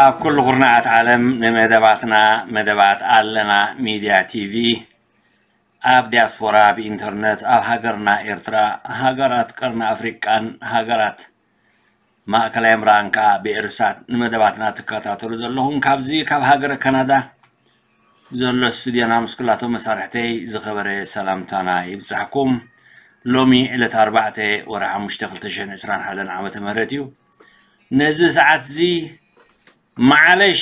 ኣብ ኩሉ ኩርናዓት ዓለም ንመደባትና፣ መደባት ኣለና ሚድያ ቲቪ፣ ኣብ ዲያስፖራ ብኢንተርነት፣ ኣብ ሃገርና ኤርትራ፣ ሃገራት ቀርኒ ኣፍሪቃን ሃገራት ማእከላይ ምብራቕን ከዓ ብኤርሳት ንመደባትና ትከታተሉ ዘለኹም፣ ካብዚ ካብ ሃገረ ካናዳ ዘሎ ስቱድዮና ምስ ኩላቶም መሳርሕተይ ዝኸበረ ሰላምታና ይብጻሕኩም። ሎሚ ዕለት ኣርባዕተ ወርሒ ሓሙሽተ ክልተ ሽሕን ዕስራን ሓደን ዓመተ ምህረት እዩ። ነዚ ሰዓት እዚ ማዕለሽ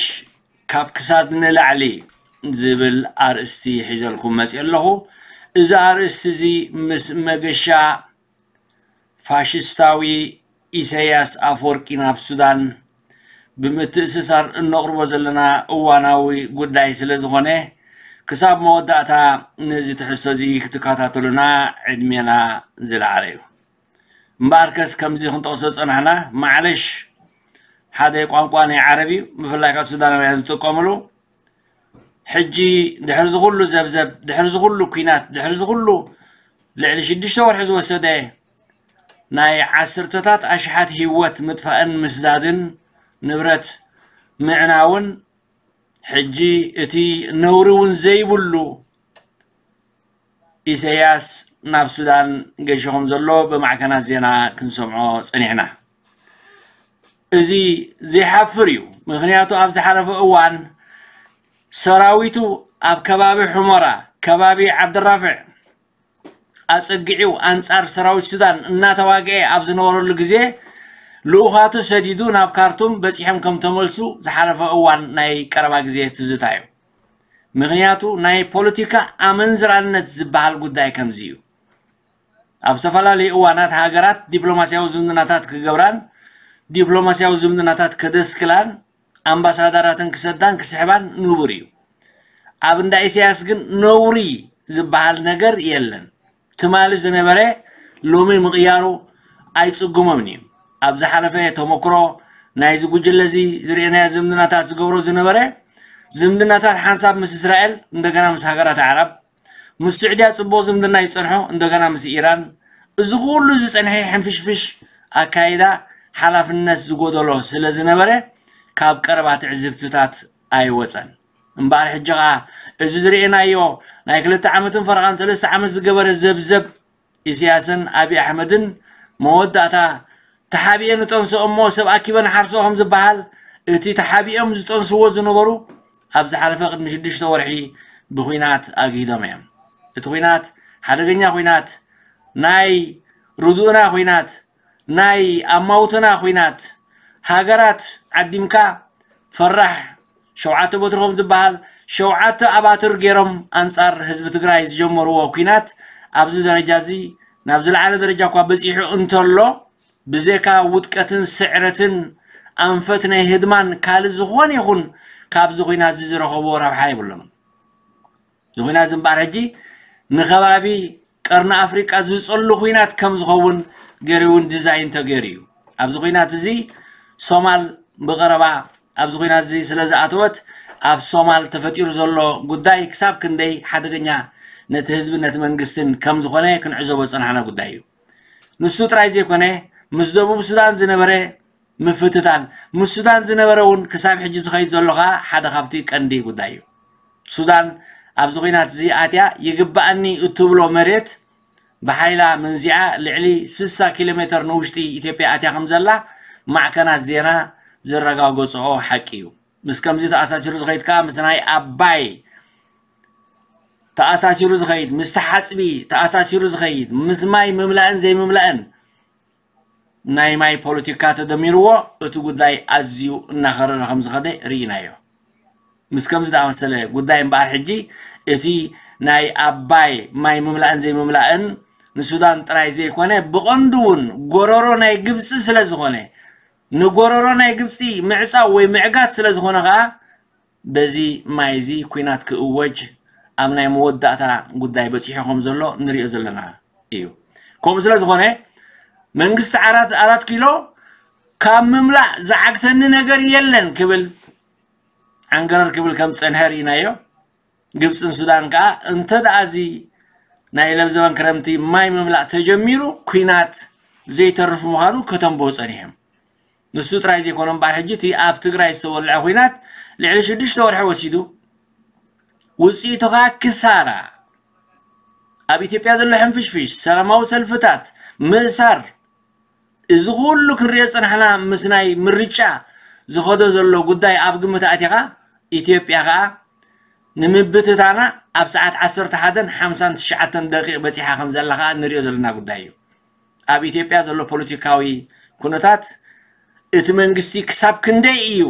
ካብ ክሳድ ንላዕሊ ዝብል ኣርእስቲ ሒዘልኩም መፅእ ኣለኹ። እዚ ኣርእስቲ እዚ ምስ መገሻ ፋሽስታዊ ኢሳያስ ኣፈወርቂ ናብ ሱዳን ብምትእስሳር እነቕርቦ ዘለና እዋናዊ ጉዳይ ስለ ዝኾነ፣ ክሳብ መወዳእታ ነዚ ትሕዝቶ እዚ ክትከታተሉና ዕድሜና ዝለዓለ እዩ። እምበኣርከስ ከምዚ ክንጠቕሶ ዝጸናሕና፣ ማዕለሽ ሓደ ቋንቋ ናይ ዓረብ እዩ፣ ብፍላይ ካብ ሱዳናውያን ዝጥቀምሉ። ሕጂ ድሕሪ ዝኹሉ ዘብዘብ፣ ድሕሪ ዝኹሉ ኲናት፣ ድሕሪ ዝኹሉ ልዕሊ ሽዱሽተ ወርሒ ዝወሰደ ናይ ዓሰርተታት ኣሽሓት ህይወት ምጥፋእን ምስዳድን ንብረት ምዕናውን፣ ሕጂ እቲ ነውሪ እውን ዘይብሉ ኢሳያስ ናብ ሱዳን ገይሹ ከም ዘሎ ብማዕከናት ዜና ክንሰምዖ ጸኒሕና። እዚ ዘይሓፍር እዩ። ምኽንያቱ ኣብ ዝሓለፈ እዋን ሰራዊቱ ኣብ ከባቢ ሑመራ፣ ከባቢ ዓብደራፍዕ ኣጸጊዑ ኣንጻር ሰራዊት ሱዳን እናተዋግአ ኣብ ዝነበረሉ ግዜ፣ ልኡኻቱ ሰዲዱ ናብ ካርቱም በጺሖም ከም ተመልሱ ዝሓለፈ እዋን ናይ ቀረባ ግዜ ትዝታ እዩ። ምኽንያቱ ናይ ፖለቲካ ኣመንዝራነት ዝበሃል ጉዳይ ከምዚ እዩ። ኣብ ዝተፈላለዩ እዋናት ሃገራት ዲፕሎማስያዊ ዝምድናታት ክገብራን ዲፕሎማስያዊ ዝምድናታት ከደስክላን ኣምባሳደራተን ክሰዳን ክስሕባን ንቡር እዩ። ኣብ እንዳ ኢሳያስ ግን ነውሪ ዝበሃል ነገር የለን። ትማሊ ዝነበረ ሎሚ ምቕያሩ ኣይጽግሞምን እዩ። ኣብ ዝሓለፈ ተመክሮ ናይዚ ጉጅለ እዚ ዝርእናዮ ዝምድናታት ዝገብሮ ዝነበረ ዝምድናታት ሓንሳብ ምስ እስራኤል፣ እንደገና ምስ ሃገራት ዓረብ፣ ምስ ስዑድያ ጽቡቕ ዝምድና ይጸንሖ፣ እንደገና ምስ ኢራን። እዚ ኩሉ ዝጸንሐ ሕንፍሽፍሽ ኣካይዳ ሓላፍነት ዝጎደሎ ስለ ዝነበረ ካብ ቀረባ ትዕዝብትታት ኣይወጸን። እምበኣር ሕጂ ኸኣ እዚ ዝርእናዮ ናይ ክልተ ዓመትን ፈረቓን ሰለስተ ዓመት ዝገበረ ዘብዘብ ኢሳያስን ኣብይ ኣሕመድን መወዳእታ ተሓቢኤ ንጠንሶ እሞ ሰብ ኣኪበ ንሓርሶ ከም ዝበሃል፣ እቲ ተሓቢኦም ዝጠንስዎ ዝነበሩ ኣብ ዝሓለፈ ቅድሚ ሽዱሽተ ወርሒ ብኹናት ኣግሂዶም እዮም። እቲ ኹናት ሓደገኛ ኹናት፣ ናይ ርዱእና ኹናት፣ ናይ ኣማውትና ኹናት፣ ሃገራት ዓዲምካ ፈራሕ ሸውዓተ በትሪ ከም ዝበሃል ሸውዓተ ኣባትር ገይሮም ኣንጻር ህዝቢ ትግራይ ዝጀመርዎ ኲናት ኣብዚ ደረጃ እዚ ናብ ዝለዓለ ደረጃ እኳ በጺሑ እንተሎ፣ ብዘይካ ውድቀትን ስዕረትን ኣንፈት ናይ ህድማን ካልእ ዝኾነ ይኹን ካብዚ ኲናት እዚ ዝረኸብዎ ረብሓ የብሎምን። እዚ ኲናት እዚ እምበኣር ሕጂ ንኸባቢ ቀርኒ ኣፍሪቃ ዝጸሉ ኲናት ከም ዝኸውን ገይሩ እውን ዲዛይን ተገይሩ እዩ። ኣብዚ ኲናት እዚ ሶማል ብቐረባ ኣብዚ ኲናት እዚ ስለ ዝኣተወት ኣብ ሶማል ተፈጢሩ ዘሎ ጉዳይ ክሳብ ክንደይ ሓደገኛ ነቲ ህዝቢ ነቲ መንግስትን ከም ዝኾነ ክንዕዘቦ ዝጸናሕና ጉዳይ እዩ። ንሱ ጥራይ ዘይኮነ ምስ ደቡብ ሱዳን ዝነበረ ምፍትታን ምስ ሱዳን ዝነበረ እውን ክሳብ ሕጂ ዝኸይድ ዘሎ ኸኣ ሓደ ካብቲ ቀንዲ ጉዳይ እዩ። ሱዳን ኣብዚ ኲናት እዚ ኣትያ ይግባኣኒ እትብሎ መሬት ብሓይላ መንዚዓ ልዕሊ ስሳ ኪሎ ሜተር ንውሽጢ ኢትዮጵያ ኣትያ ከም ዘላ ማዕከናት ዜና ዘረጋገጽኦ ሓቂ እዩ። ምስ ከምዚ ተኣሳሲሩ ዝኸይድ ከኣ ምስ ናይ ኣባይ ተኣሳሲሩ ዝኸይድ፣ ምስቲ ሓጽቢ ተኣሳሲሩ ዝኸይድ፣ ምስ ማይ ምምላእን ዘይምምላእን ናይ ማይ ፖለቲካ ተደሚርዎ እቲ ጉዳይ ኣዝዩ እናኸረረ ከም ዝኸደ ርኢናዮ። ምስ ከምዚ ዝኣመሰለ ጉዳይ እምበኣር ሕጂ እቲ ናይ ኣባይ ማይ ምምላእን ዘይምምላእን ንሱዳን ጥራይ ዘይኮነ ብቐንዱ እውን ጎረሮ ናይ ግብፂ ስለ ዝኾነ ንጎረሮ ናይ ግብፂ ምዕፃው ወይ ምዕጋት ስለ ዝኾነ ከዓ በዚ ማይ እዚ ኲናት ክእወጅ ኣብ ናይ መወዳእታ ጉዳይ በፂሑ ከም ዘሎ ንሪኦ ዘለና እዩ። ከምኡ ስለ ዝኾነ መንግስቲ ዓራት ኣራት ኪሎ ካብ ምምላእ ዝዓግተኒ ነገር የለን ክብል ዓንገረር ክብል ከም ዝፀንሐ ርኢናዮ። ግብፅን ሱዳን ከዓ እንተ ደኣ እዚ ናይ ለብዘበን ክረምቲ ማይ ምምላእ ተጀሚሩ ኲናት ዘይተርፍ ምዃኑ ከተንብሁ ፀኒሖም። ንሱ ጥራይ ዘይኮነ እምበኣር፣ ሕጂ እቲ ኣብ ትግራይ ዝተወልዐ ኲናት ልዕሊ ሽዱሽተ ወርሒ ወሲዱ፣ ውፅኢቱ ኸዓ ክሳራ፣ ኣብ ኢትዮጵያ ዘሎ ሕንፍሽፍሽ፣ ሰላማዊ ሰልፍታት፣ ምእሳር፣ እዚ ኩሉ ክንሪኦ ዝፀናሕና ምስ ናይ ምርጫ ዝኸዶ ዘሎ ጉዳይ ኣብ ግምት ኣእቲኻ፣ ኢትዮጵያ ኸዓ ንምብትታና ኣብ ሰዓት ዓሰርተ ሓደን ሓምሳን ትሽዓተን ደቂቕ በፂሓ ከም ዘላ ኸዓ ንሪኦ ዘለና ጉዳይ እዩ። ኣብ ኢትዮጵያ ዘሎ ፖለቲካዊ ኩነታት፣ እቲ መንግስቲ ክሳብ ክንደይ እዩ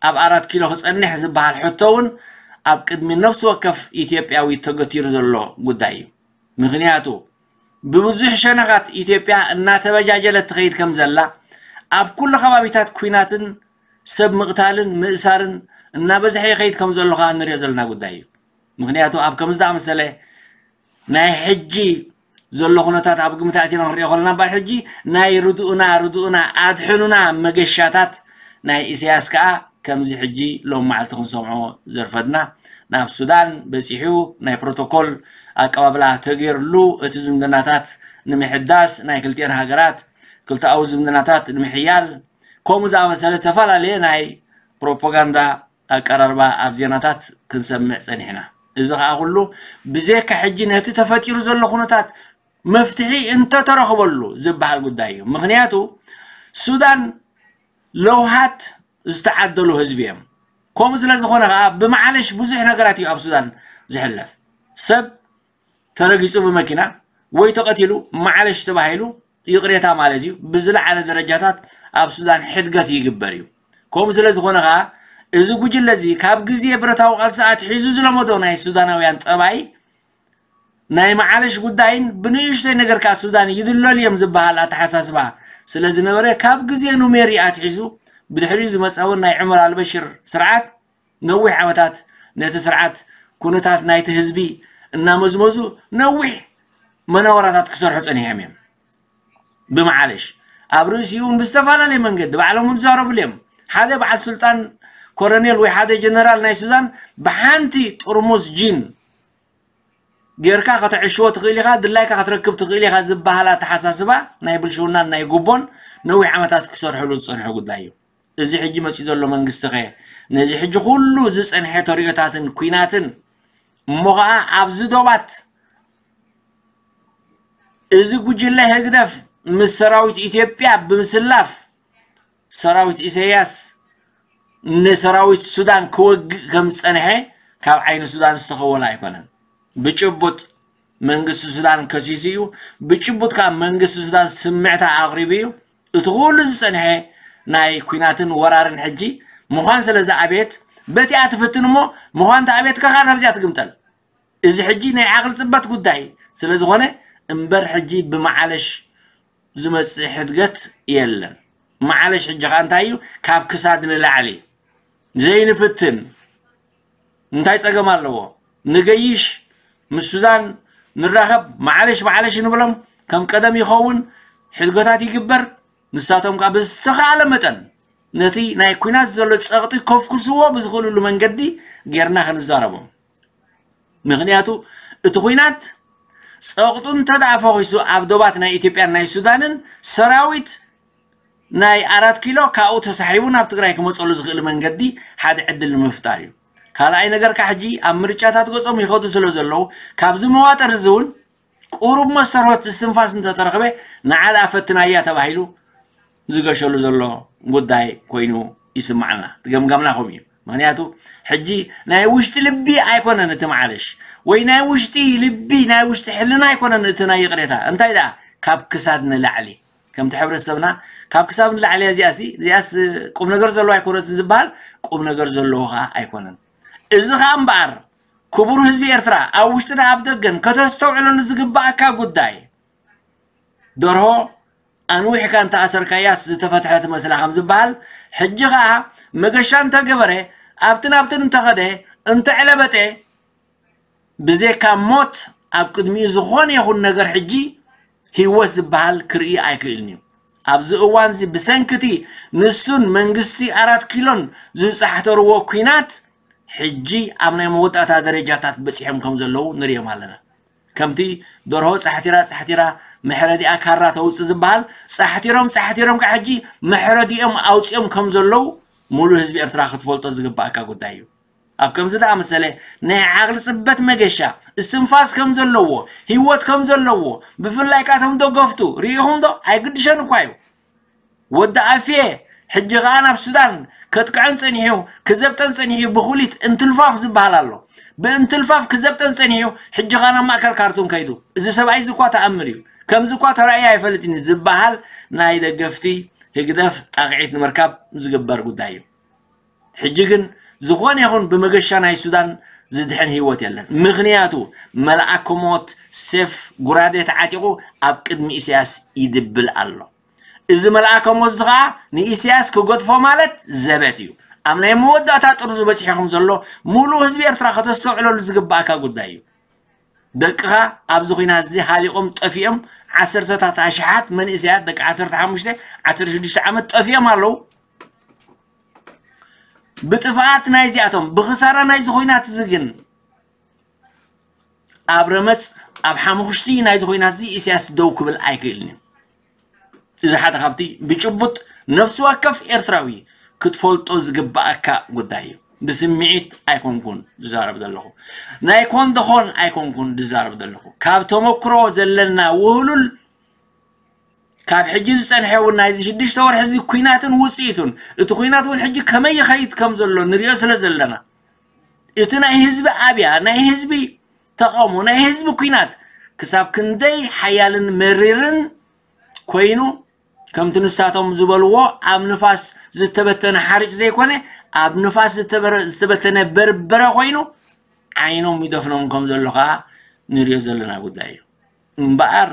ኣብ ኣራት ኪሎ ክፀንሕ ዝበሃል ሕቶ እውን ኣብ ቅድሚ ነፍሲ ወከፍ ኢትዮጵያዊ ተገቲሩ ዘሎ ጉዳይ እዩ። ምኽንያቱ ብብዙሕ ሸነኻት ኢትዮጵያ እናተበጃጀለት ትኸይድ ከም ዘላ፣ ኣብ ኩሉ ከባቢታት ኲናትን ሰብ ምቕታልን ምእሳርን እናበዝሐ ይኸይድ ከም ዘሎ ኸዓ ንሪኦ ዘለና ጉዳይ እዩ። ምኽንያቱ ኣብ ከምዚ ዝኣመሰለ ናይ ሕጂ ዘሎ ኩነታት ኣብ ግምት ኣእቲና ክንሪኦ ከለና፣ እምበኣር ሕጂ ናይ ርድኡና፣ ርድኡና፣ ኣድሕኑና መገሻታት ናይ ኢሳያስ ከኣ ከምዚ ሕጂ ሎም መዓልቲ ክንሰምዖ ዘርፈድና፣ ናብ ሱዳን በጺሑ ናይ ፕሮቶኮል ኣቀባብላ ተገይርሉ፣ እቲ ዝምድናታት ንምሕዳስ፣ ናይ ክልቲአን ሃገራት ክልተኣዊ ዝምድናታት ንምሕያል፣ ከምኡ ዝኣመሰለ ዝተፈላለየ ናይ ፕሮፓጋንዳ ኣቀራርባ ኣብ ዜናታት ክንሰምዕ ጸኒሕና። እዚ ኸኣ ኩሉ ብዘይካ ሕጂ ነቲ ተፈጢሩ ዘሎ ኩነታት መፍትሒ እንተተረኽበሉ ዝበሃል ጉዳይ እዩ። ምኽንያቱ ሱዳን ለውሃት ዝተዓደሉ ህዝቢ እዮም። ከምኡ ስለ ዝኾነ ኸዓ ብመዓለሽ ብዙሕ ነገራት እዩ ኣብ ሱዳን ዝሕለፍ። ሰብ ተረጊጹ ብመኪና ወይ ተቐቲሉ መዓለሽ ተባሂሉ ይቕሬታ ማለት እዩ። ብዝለዓለ ደረጃታት ኣብ ሱዳን ሕድገት ይግበር እዩ። ከምኡ ስለ ዝኾነ ኸዓ እዚ ጉጅለ እዚ ካብ ግዜ ብረታዊ ቃልሲ ኣትሒዙ ዝለመዶ ናይ ሱዳናውያን ጠባይ ናይ መዓለሽ ጉዳይን ብንእሽተይ ነገር ከኣ ሱዳን ይድለሉ እዮም ዝበሃል ኣተሓሳስባ ስለ ዝነበረ፣ ካብ ግዜ ኑሜሪ ኣትሒዙ ብድሕሪኡ ዝመጸ እውን ናይ ዑመር ኣልበሽር ስርዓት ነዊሕ ዓመታት ነቲ ስርዓት ኩነታት ናይቲ ህዝቢ እናመዝመዙ ነዊሕ መናወራታት ክሰርሑ ጸኒሖም እዮም። ብመዓለሽ ኣብ ርእሲኡ እውን ብዝተፈላለየ መንገዲ ባዕሎም እውን ዝዛረብሉ እዮም። ሓደ በዓል ስልጣን ኮረኔል ወይ ሓደ ጀነራል ናይ ሱዳን ብሓንቲ ጥርሙስ ጂን ጌርካ ከተዕሽዎ ትኽእል ኢኻ፣ ድላይካ ክትረክብ ትኽእል ኢኻ ዝበሃል ኣተሓሳስባ ናይ ብልሽውናን ናይ ጉቦን ነዊሕ ዓመታት ክሰርሕሉ ዝጸንሑ ጉዳይ እዩ። እዚ ሕጂ መጺኡ ዘሎ መንግስቲ ኸ ነዚ ሕጂ ኩሉ ዝጸንሐ ተርእዮታትን ኲናትን እሞ ኸዓ ኣብዚ ዶባት እዚ ጉጅለ ህግደፍ ምስ ሰራዊት ኢትዮጵያ ብምስላፍ ሰራዊት ኢሳያስ ንሰራዊት ሱዳን ክወግእ ከም ዝጸንሐ ካብ ዓይኒ ሱዳን ዝተኸወለ ኣይኮነን። ብጭቡጥ መንግስቲ ሱዳን ከሲሱ እዩ። ብጭቡጥ ካብ መንግስቲ ሱዳን ስምዕታ ኣቕሪቡ እዩ። እቲ ኩሉ ዝጸንሐ ናይ ኲናትን ወራርን ሕጂ ምዃን ስለ ዝኣበየት በቲኣ ትፍትን እሞ ምዃን ተኣበየት ከኻ ናብዚኣ ትግምጠል። እዚ ሕጂ ናይ ዓቕሊ ጽበት ጉዳይ ስለ ዝኾነ እምበር ሕጂ ብመዓለሽ ዝመጽእ ሕድገት የለን። መዓለሽ ሕጂ ኸኣ እንታይ እዩ? ካብ ክሳድ ንላዕሊ ዘይንፍትን እንታይ ጸገም ኣለዎ? ንገይሽ፣ ምስ ሱዳን ንራኸብ፣ መዓለሽ መዓለሽ ንብሎም፣ ከም ቀደም ይኸውን፣ ሕድገታት ይግበር። ንሳቶም ከኣ ብዝተኻእለ መጠን ነቲ ናይ ኲናት ዘሎ ጸቕጢ ከፍኩስዎ ብዝኽእልሉ መንገዲ ጌርና ክንዛረቦም። ምኽንያቱ እቲ ኲናት ጸቕጡ እንተ ደኣ ፈኺሱ ኣብ ዶባት ናይ ኢትዮጵያን ናይ ሱዳንን ሰራዊት ናይ ኣራት ኪሎ ካብኡ ተሳሒቡ ናብ ትግራይ ክመጸሉ ዝኽእል መንገዲ ሓደ ዕድል ንምፍጣር እዩ። ካልኣይ ነገር ከኣ ሕጂ ኣብ ምርጫታት ገጾም ይኸዱ ስለ ዘለዉ ካብዚ መዋጠር እዚ እውን ቁሩብ መስተርሆት እስትንፋስ እንተተረኽበ ንዓ ደኣ ፈትናያ ተባሂሉ ዝገሸሉ ዘሎ ጉዳይ ኮይኑ ይስማዓና። እቲ ገምጋምና ከምኡ እዩ። ምኽንያቱ ሕጂ ናይ ውሽጢ ልቢ ኣይኮነን እቲ መዓለሽ ወይ ናይ ውሽጢ ልቢ ናይ ውሽጢ ሕልና ኣይኮነን እቲ ናይ ይቕሬታ። እንታይ ደኣ ካብ ክሳድ ንላዕሊ ከምቲ ሕብረተሰብና ካብ ክሳብ ንላዕሊ እያ እዚኣሲ እዚኣስ ቁም ነገር ዘለዎ ኣይኮነትን ዝበሃል ቁም ነገር ዘለዎ ኸዓ ኣይኮነን። እዚ ኸዓ እምበኣር ክቡር ህዝቢ ኤርትራ ኣብ ውሽጥን ኣብ ደገን ከተስተውዕለሉ ዝግበኣካ ጉዳይ ደርሆ ኣንዊሕካ እንተ ኣሰርካያስ ዝተፈትሐ ትመስላ ከም ዝበሃል ሕጂ ኸዓ መገሻ እንተገበረ ኣብትን ኣብትን እንተኸደ እንተዕለበጠ ብዘይካ ሞት ኣብ ቅድሚኡ ዝኾነ ይኹን ነገር ሕጂ ህይወት ዝበሃል ክርኢ ኣይክእልን እዩ። ኣብዚ እዋንዚ ብሰንክቲ ንሱን መንግስቲ ኣራት ኪሎን ዝጻሕተርዎ ኲናት ሕጂ ኣብ ናይ መወዳእታ ደረጃታት በጺሖም ከም ዘለዉ ንርእዮም ኣለና። ከምቲ ደርሆ ጻሕቲራ ጻሕቲራ መሕረዲኣ ካራ ተውጽእ ዝበሃል፣ ጻሕቲሮም ጻሕቲሮም ካብ ሕጂ መሕረዲኦም ኣውጺኦም ከም ዘለዉ ሙሉእ ህዝቢ ኤርትራ ክትፈልጦ ዝግባኣካ ጉዳይ እዩ። ኣብ ከምዚ ዝኣመሰለ ናይ ዓቕሊ ጽበት መገሻ፣ እስትንፋስ ከም ዘለዎ፣ ህይወት ከም ዘለዎ፣ ብፍላይ ካቶም ደገፍቱ ርኢኹም ዶ? ኣይግድሸን እኳ እዩ። ወዲ ኣፍየ ሕጂ ኸኣ ናብ ሱዳን ከጥቅዐን ጸኒሑ፣ ክዘብጠን ጸኒሑ፣ ብኹሊት እንትልፋፍ ዝበሃል ኣሎ። ብእንትልፋፍ ክዘብጠን ጸኒሑ፣ ሕጂ ኸኣ ናብ ማእከል ካርቱም ከይዱ። እዚ ሰብኣይ እዚ እኳ ተኣምር እዩ። ከምዚ እኳ ተራእዩ ኣይፈልጥን እዩ ዝበሃል ናይ ደገፍቲ ህግደፍ ጣቕዒት ንምርካብ ዝግበር ጉዳይ እዩ። ሕጂ ግን ዝኾነ ይኹን ብመገሻ ናይ ሱዳን ዝድሕን ህይወት የለን። ምኽንያቱ መልኣከ ሞት ሴፍ ጉራዴ ተዓጢቑ ኣብ ቅድሚ ኢሳያስ ይድብል ኣሎ። እዚ መልኣከ ሞት እዚ ኸዓ ንኢሳያስ ክገድፎ ማለት ዘበት እዩ። ኣብ ናይ መወዳእታ ጥርዙ በፂሑ ከም ዘሎ ሙሉእ ህዝቢ ኤርትራ ከተስተውዕለሉ ዝግባእካ ጉዳይ እዩ። ደቅኻ ኣብዚ ኹናት እዚ ሃሊቖም ጠፊኦም፣ ዓሰርተታት ኣሽሓት መንእሰያት ደቂ ዓሰርተ ሓሙሽተ ዓሰርተ ሽዱሽተ ዓመት ጠፊኦም ኣለዉ። ብጥፍኣት ናይዚኣቶም፣ ብኽሳራ ናይዚ ኹናት እዚ ግን ኣብ ረመጽ፣ ኣብ ሓሙኽሽቲ ናይዚ ኹናት እዚ ኢሳያስ ደው ክብል ኣይክእልን እዩ። እዚ ሓደ ካብቲ ብጭቡጥ ነፍሲ ወከፍ ኤርትራዊ ክትፈልጦ ዝግባኣካ ጉዳይ እዩ። ብስምዒት ኣይኮንኩን ዝዛረብ ዘለኹ፣ ናይ ኮን ደኾን ኣይኮንኩን ዝዛረብ ዘለኹ። ካብ ተመክሮ ዘለና ውህሉል፣ ካብ ሕጂ ዝጸንሐ እውን ናይዚ ሽዱሽተ ወርሒ እዚ ኲናትን ውጽኢቱን፣ እቲ ኲናት እውን ሕጂ ከመይ ይኸይድ ከም ዘሎ ንሪኦ ስለ ዘለና፣ እቲ ናይ ህዝቢ ኣብያ፣ ናይ ህዝቢ ተቓውሞ፣ ናይ ህዝቢ ኲናት ክሳብ ክንደይ ሓያልን መሪርን ኮይኑ፣ ከምቲ ንሳቶም ዝበልዎ ኣብ ንፋስ ዝተበተነ ሓርጭ ዘይኮነ፣ ኣብ ንፋስ ዝተበረ-፣ ዝተበተነ በርበረ ኮይኑ ዓይኖም ይደፍኖም ከም ዘሎ ከኣ ንሪኦ ዘለና ጉዳይ እዩ። እምበኣር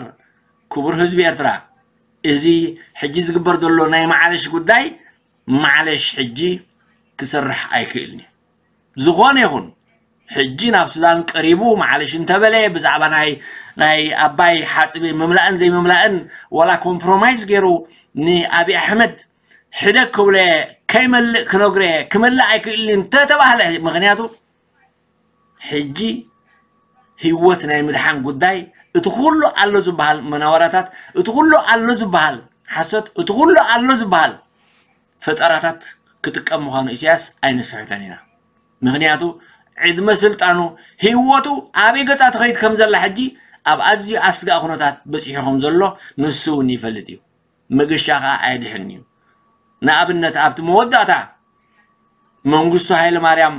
ክቡር ህዝቢ ኤርትራ፣ እዚ ሕጂ ዝግበር ዘሎ ናይ ማዕለሽ ጉዳይ ማዕለሽ ሕጂ ክሰርሕ ኣይክእልን እዩ። ዝኾነ ይኹን ሕጂ ናብ ሱዳን ቀሪቡ ማዕለሽ እንተበለ ብዛዕባ ናይ ናይ ኣባይ ሓጽቢ ምምላእን ዘይምምላእን ዋላ ኮምፕሮማይዝ ገይሩ ንኣብይ ኣሕመድ ሕደግ ክብሎ ከይመልእ ክነግሮ ክመልእ ኣይክእልን እንተተባህለ፣ ምኽንያቱ ሕጂ ህይወት ናይ ምድሓን ጉዳይ እቲ ኩሉ ኣሎ ዝበሃል መናወራታት፣ እቲ ኩሉ ኣሎ ዝበሃል ሓሶት፣ እቲ ኩሉ ኣሎ ዝበሃል ፈጠራታት ክጥቀም ምዃኑ ኢሳያስ ኣይንስሕቶን ኢና። ምኽንያቱ ዕድመ ስልጣኑ፣ ህይወቱ ኣበይ ገጻ ትኸይድ ከም ዘላ ሕጂ ኣብ ኣዝዩ ኣስጋኢ ኩነታት በጺሑ ከም ዘሎ ንሱ እውን ይፈልጥ እዩ። መገሻ ከኣ ኣየድሕን እዩ። ንኣብነት ኣብቲ መወዳእታ መንግስቱ ሃይለ ማርያም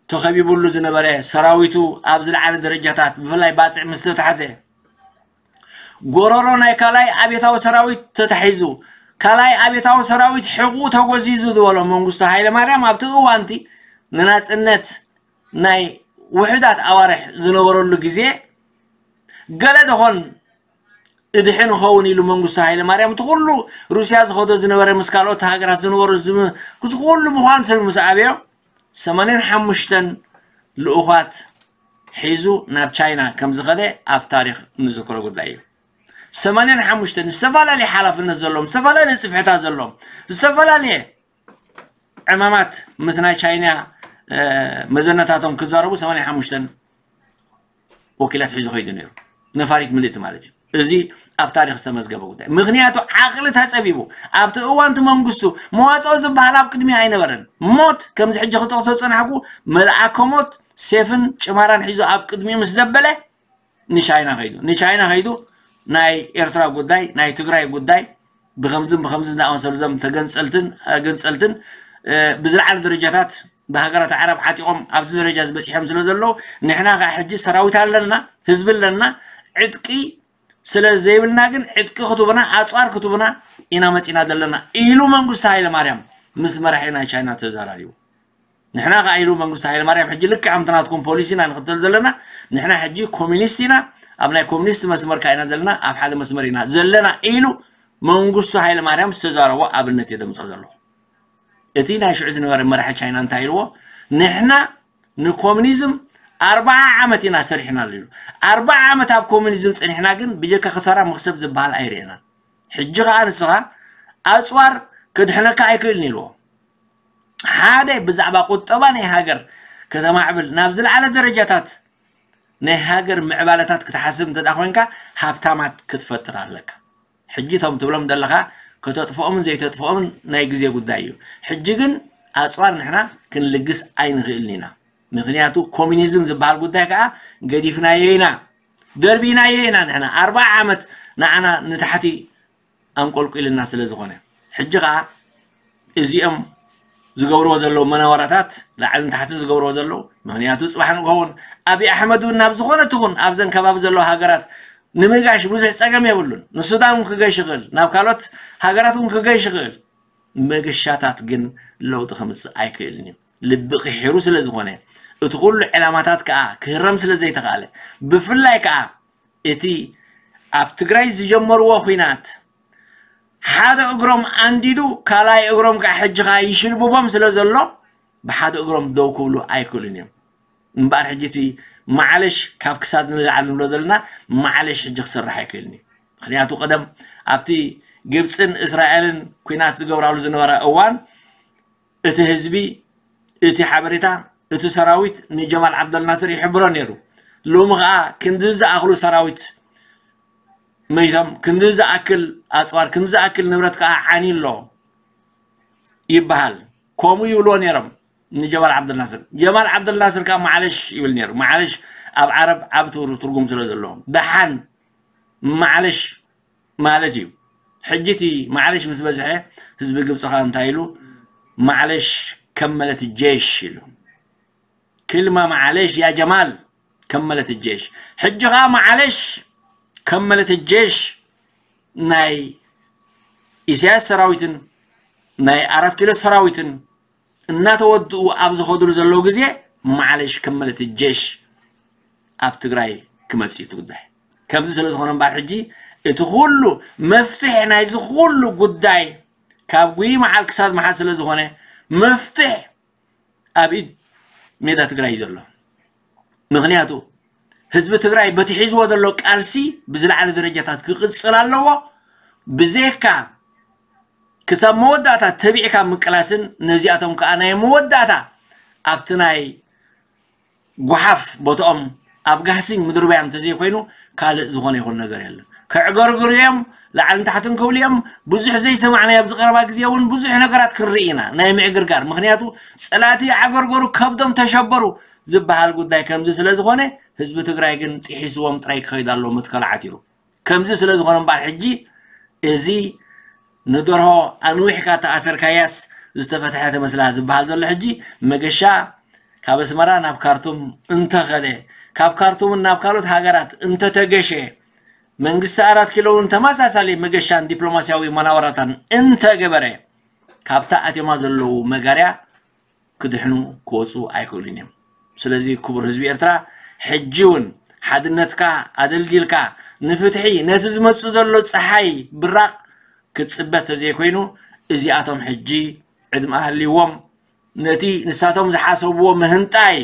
ተኸቢቡሉ ዝነበረ ሰራዊቱ ኣብ ዝለዓለ ደረጃታት ብፍላይ ባጽዕ ምስ ተታሕዘ፣ ጎረሮ ናይ ካልኣይ ኣብዮታዊ ሰራዊት ተታሒዙ፣ ካልኣይ ኣብዮታዊ ሰራዊት ሕቑኡ ተጎዚዙ ዝበሎ መንግስቱ ሃይለ ማርያም ኣብቲ እዋንቲ ንናጽነት ናይ ውሑዳት ኣዋርሕ ዝነበረሉ ግዜ፣ ገለ ደኾን እድሕን ኸውን ኢሉ መንግስቱ ሃይለ ማርያም እቲ ኩሉ ሩስያ ዝኸዶ ዝነበረ ምስ ካልኦት ሃገራት ዝነበሩ ዝም-፣ እዚ ኩሉ ምዃን ሰብ ምስ ኣበዮ ሰማንያን ሓሙሽተን ልኡኻት ሒዙ ናብ ቻይና ከም ዝኸደ ኣብ ታሪኽ ንዝክሮ ጉዳይ እዩ። ሰማንያን ሓሙሽተን ዝተፈላለየ ሓላፍነት ዘለዎም፣ ዝተፈላለየ ጽፍሕታት ዘለዎም፣ ዝተፈላለየ ዕማማት ምስ ናይ ቻይና፣ እ፣ መዘነታቶም ክዛረቡ ሰማንያን ሓሙሽተን ወኪላት ሒዙ ከይዱ ነይሩ። ነፋሪት ምልእቲ ማለት እዩ። እዚ ኣብ ታሪኽ ዝተመዝገበ ጉዳይ። ምኽንያቱ ዓቕሊ ተጸቢቡ። ኣብቲ እዋን እቲ መንግስቱ መዋጽኦ ዝበሃል ኣብ ቅድሚኡ ኣይነበረን። ሞት፣ ከምዚ ሕጂ ክጠቕሶ ዝጸናሕኩ፣ መልኣከ ሞት ሴፍን ጭማራን ሒዙ ኣብ ቅድሚኡ ምስ ደበለ፣ ንቻይና ከይዱ። ንቻይና ከይዱ ናይ ኤርትራ ጉዳይ፣ ናይ ትግራይ ጉዳይ ብኸምዝን ብኸምዝን ዝኣመሰሉ እዞም ተገንጸልትን፣ ኣገንጸልትን፣ እ፣ ብዝለዓለ ደረጃታት ብሃገራት ዓረብ ዓጢቖም ኣብዚ ደረጃ ዝበጺሖም ስለ ዘለዉ፣ ንሕና ከኣ ሕጂ ሰራዊት ኣለና፣ ህዝቢ ኣለና፣ ዕጥቂ ስለ ዘይብልና ግን ዕጥቂ ክትቡና፣ ኣጽዋር ክትቡና ኢና መጺና ዘለና ኢሉ መንግስቱ ሃይለ ማርያም ምስ መራሒ ናይ ቻይና ተዘራሪቡ። ንሕና ከኣ ኢሉ መንግስቱ ሃይለ ማርያም ሕጂ ልክዕ ከምቲ ናትኩም ፖሊሲ ኢና ንኽተል ዘለና፣ ንሕና ሕጂ ኮሚኒስት ኢና፣ ኣብ ናይ ኮሚኒስት መስመር ከኣ ኢና ዘለና፣ ኣብ ሓደ መስመር ኢና ዘለና ኢሉ መንግስቱ ሃይለ ማርያም ዝተዛረቦ ኣብነት እየ ደምጾ ዘለኹ። እቲ ናይ ሽዑ ዝነበረ መራሒ ቻይና እንታይ ኢልዎ? ንሕና ንኮሚኒዝም ኣርብዓ ዓመት ኢና ሰሪሕናሉ ኢሉ። ኣርብዓ ዓመት ኣብ ኮሚኒዝም ጸኒሕና ግን ብጀካ ክሳራ መኽሰብ ዝበሃል ኣይርኤናን። ሕጂ ከኣ ንስኻ ኣጽዋር ከድሕነካ ኣይክእልን ኢልዎ። ሓደ ብዛዕባ ቁጠባ ናይ ሃገር ከተማዕብል ናብ ዝለዓለ ደረጃታት ናይ ሃገር ምዕባለታት ክትሓስብ እንተ ደኣ ኮይንካ፣ ሃብታማት ክትፈጥር ኣለካ። ሕጂ እቶም ትብሎም ዘለኻ ከተጥፍኦምን ዘይተጥፍኦምን ናይ ግዜ ጉዳይ እዩ። ሕጂ ግን ኣጽዋር ንሕና ክንልግስ ኣይንኽእልን ኢና። ምኽንያቱ ኮሚኒዝም ዝበሃል ጉዳይ ከኣ ገዲፍናዮ ኢና፣ ደርቢናዮ ኢና። ንሕና ኣርብዓ ዓመት ንዓና ንታሕቲ ኣንቆልቂልና ስለ ዝኾነ፣ ሕጂ ኸኣ እዚኦም ዝገብርዎ ዘለዉ መናወራታት፣ ላዕልን ታሕቲ ዝገብርዎ ዘለዉ፣ ምኽንያቱ ጽባሕ ንግሆ እውን ኣብይ ኣሕመድ እውን ናብ ዝኾነ ትኹን ኣብዘን ከባቢ ዘለዋ ሃገራት ንምጋሽ ብዙሕ ጸገም የብሉን። ንሱዳን እውን ክገሽ ይኽእል፣ ናብ ካልኦት ሃገራት እውን ክገሽ ይኽእል። መገሻታት ግን ለውጢ ከምጽእ ኣይክእልን እዩ። ልቢ ቂሒሩ ስለ ዝኾነ፣ እቲ ኩሉ ዕላማታት ከኣ ክህረም ስለ ዘይተኻእለ፣ ብፍላይ ከኣ እቲ ኣብ ትግራይ ዝጀመርዎ ኹናት ሓደ እግሮም ኣንዲዱ ካልኣይ እግሮም ከዓ ሕጂ ከዓ ይሽልብቦም ስለ ዘሎ፣ ብሓደ እግሮም ደው ክብሉ ኣይክእሉን እዮም። እምበኣር ሕጂ እቲ ማዕለሽ ካብ ክሳድ ንላዕሊ ንብሎ ዘለና ማዕለሽ ሕጂ ክስራሕ ኣይክእልን እዩ። ምኽንያቱ ቀደም ኣብቲ ግብፅን እስራኤልን ኲናት ዝገብራሉ ዝነበረ እዋን እቲ ህዝቢ፣ እቲ ሓበሬታ፣ እቲ ሰራዊት ንጀማል ዓብደልናስር ይሕብሮ ነይሩ። ሎሚ ከዓ ክንዲ ዝኣኽሉ ሰራዊት መይቶም፣ ክንዲ ዝኣክል ኣፅዋር፣ ክንዲ ዝኣክል ንብረት ከዓ ዓንዩ ኣሎ ይበሃል። ከምኡ ይብልዎ ነይሮም ንጀማል ዓብደልናስር። ጀማል ዓብደልናስር ከዓ ማዕለሽ ይብል ነይሩ። ማዕለሽ ኣብ ዓረብ ዓብ ትርጉም ስለ ዘለዎ፣ ደሓን ማዕለሽ ማለት እዩ። ሕጂ እቲ ማዕለሽ ምስ በዝሐ ህዝቢ ግብፂ ከዓ እንታይ ኢሉ? ማዕለሽ ከመለት ጄሽ ኢሉ። ክልማ ማዕለሽ ያ ጀማል ከመለት ጄሽ። ሕጂ ከዓ ማዕለሽ ከመለት ጄሽ ናይ ኢሳያስ ሰራዊትን ናይ ኣራት ኪሎ ሰራዊትን እናተወድኡ ኣብ ዝኸድሉ ዘለዉ ግዜ ማዕለሽ ከመለት ጄሽ ኣብ ትግራይ ክመፅእ እዩ እቲ ጉዳይ። ከምዚ ስለ ዝኾነ እምበኣር ሕጂ እቲ ኩሉ መፍትሒ ናይዚ ኩሉ ጉዳይ ካብ ጉይ መዓል ክሳብ መሓል ስለ ዝኾነ መፍትሒ ኣብ ኢድ ሜዳ ትግራይ እዩ ዘሎ። ምኽንያቱ ህዝቢ ትግራይ በቲ ሒዝዎ ዘሎ ቃልሲ ብዝለዓለ ደረጃታት ክቕፅል ኣለዎ። ብዘይካ ክሳብ መወዳእታ ተቢዕካ ምቅላስን ነዚኣቶም ከዓ ናይ መወዳእታ ኣብቲ ናይ ጓሓፍ ቦትኦም ኣብ ጋህሲን ምድርባዮም እንተዘይኮይኑ ካልእ ዝኾነ ይኹን ነገር የለን። ከዕገርግሩ እዮም፣ ላዕልን ታሕትን ክብሉ እዮም። ብዙሕ ዘይሰማዕናዮ ኣብዚ ቀረባ ግዜ እውን ብዙሕ ነገራት ክንርኢ ኢና፣ ናይ ምዕግርጋር። ምኽንያቱ ጸላእቲ ዓገርገሩ፣ ከብዶም ተሸበሩ ዝበሃል ጉዳይ ከምዚ ስለ ዝኾነ ህዝቢ ትግራይ ግን ጥሒስዎም ጥራይ ክኸይድ ኣለዎ መትከል ዓቲሩ። ከምዚ ስለ ዝኾነ እምበኣር ሕጂ እዚ ንደርሆ ኣንዊሕካ ተኣሰርካያስ ዝተፈትሐ ትመስላ ዝበሃል ዘሎ ሕጂ መገሻ ካብ ኣስመራ ናብ ካርቱም እንተኸደ፣ ካብ ካርቱምን ናብ ካልኦት ሃገራት እንተተገሸ፣ መንግስቲ ኣራት ኪሎ እውን ተመሳሳሊ መገሻን ዲፕሎማስያዊ መናወራታን እንተገበረ፣ ካብታ ኣትዮማ ዘለዉ መጋርያ ክድሕኑ ክወፁ ኣይክእሉን እዮም። ስለዚ ክቡር ህዝቢ ኤርትራ፣ ሕጂ እውን ሓድነትካ ኣደልዲልካ ንፍትሒ፣ ነቲ ዝመፅእ ዘሎ ፀሓይ ብራቕ ክትፅበ ተዘይኮይኑ፣ እዚኣቶም ሕጂ ዕድመ ሃልይዎም ነቲ ንሳቶም ዝሓሰብዎ ምህንጣይ፣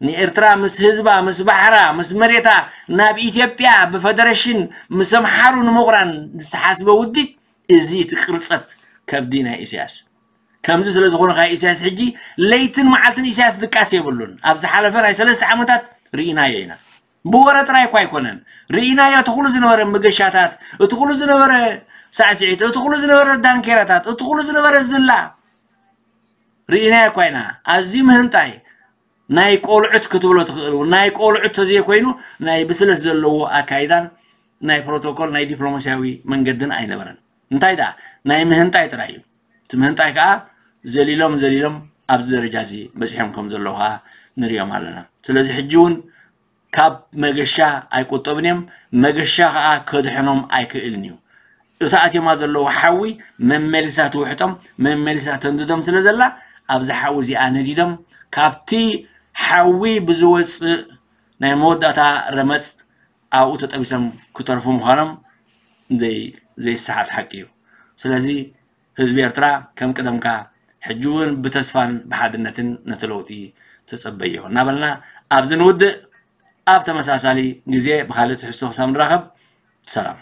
ንኤርትራ ምስ ህዝባ፣ ምስ ባሕራ፣ ምስ መሬታ ናብ ኢትዮጵያ ብፈደረሽን ምስ ኣምሓሩ ንምቑራን ዝተሓስበ ውዲት፣ እዚ እቲ ቅርጸት ከብዲ ናይ ኢሳያስ። ከምዚ ስለ ዝኾነ ከኣ ኢሳያስ ሕጂ ለይትን መዓልትን ኢሳያስ ድቃስ የብሉን። ኣብ ዝሓለፈ ናይ ሰለስተ ዓመታት ርኢናዮ ኢና። ብወረ ጥራይ እኳ ኣይኮነን። ርኢናዮ እቲ ኩሉ ዝነበረ መገሻታት፣ እቲ ኩሉ ዝነበረ ሳዕስዒት፣ እቲ ኩሉ ዝነበረ ዳንኬራታት፣ እቲ ኩሉ ዝነበረ ዝላ ርኢናዮ እኳ ኢና። ኣዝዩ ምህንጣይ ናይ ቆልዑት ክትብሎ ትኽእል እውን፣ ናይ ቆልዑት ተዘይኮይኑ ናይ ብስለት ዘለዎ ኣካይዳን ናይ ፕሮቶኮል ናይ ዲፕሎማስያዊ መንገድን ኣይነበረን። እንታይ ደኣ ናይ ምህንጣይ ጥራይ እዩ። እቲ ምህንጣይ ከኣ ዘሊሎም ዘሊሎም ኣብዚ ደረጃ እዚ በጺሖም ከም ዘለዉ ከኣ ንሪኦም ኣለና። ስለዚ ሕጂ እውን ካብ መገሻ ኣይቁጠቡን እዮም። መገሻ ከኣ ከድሕኖም ኣይክእልን እዩ። እታ ኣትዮማ ዘለዉ ሓዊ መመሊሳ ትውሕጦም፣ መመሊሳ ተንድዶም ስለ ዘላ፣ ኣብዚ ሓዊ እዚኣ ነዲዶም፣ ካብቲ ሓዊ ብዝወጽእ ናይ መወዳእታ ረመጽ ኣብኡ ተጠቢሶም ክተርፉ ምዃኖም ዘይ-፣ ዘይሰሓት ሓቂ እዩ። ስለዚ ህዝቢ ኤርትራ ከም ቅደምካ ሕጂ እውን ብተስፋን ብሓድነትን ነቲ ለውጢ ተጸበዮ እናበልና ኣብዚ ንውድእ። ኣብ ተመሳሳሊ ግዜ ብኻልእ ትሕዝቶ ክሳብ ንራኸብ፣ ሰላም።